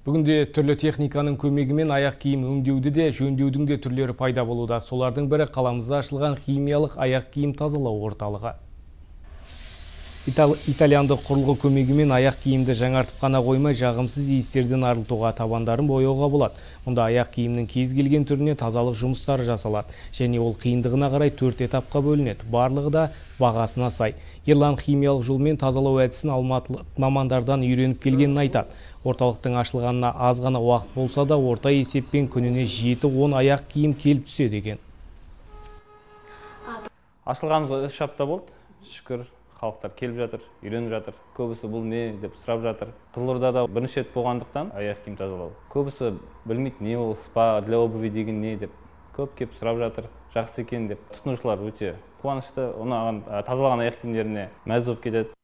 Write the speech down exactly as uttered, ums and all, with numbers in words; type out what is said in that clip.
Бүгінде түрлі техниканың көмегімен аяқ киім өңдеуді де, жөндеудің де түрлері пайда болуда. Солардың бірі қаламызда ашылған химиялық аяқ киім тазалау орталығы. Итальяндық құрылғы көмегімен аяқ киімді жаңартып қана қоймай, жағымсыз иістерден арылтуға, табандарын бояуға болады. Мұнда аяқ киімнің кез келген түріне тазалық жұмыстары жасалады. Және ол қиындығына қарай төрт этапқа бөлінеді. Барлығы да бағасына сай. Ерлан химиялық жолмен тазалау әдісін алматылық мамандардан үйреніп келгенін айтады. Орталықтың ашылғанына аз ғана уақыт болса да, орта есеппен күніне жеті он аяқ киім келіп түседі екен. Ашылғанымызға үш апта болды. Шүкір, халықтар келіп жатыр, үйреніп жатыр. Көбісі бұл не деп сұрап жатыр. Қызылордада бірінші рет болғандықтан аяқ киім тазалау. Көбісі білмейді, не ол спа для обуви деген не деп. Көп келіп сұрап жатыр, жақсы екен деп. Тұтынушылар өте қуанышты, оны тазалаған аяқ киімдеріне мәз болып кетеді.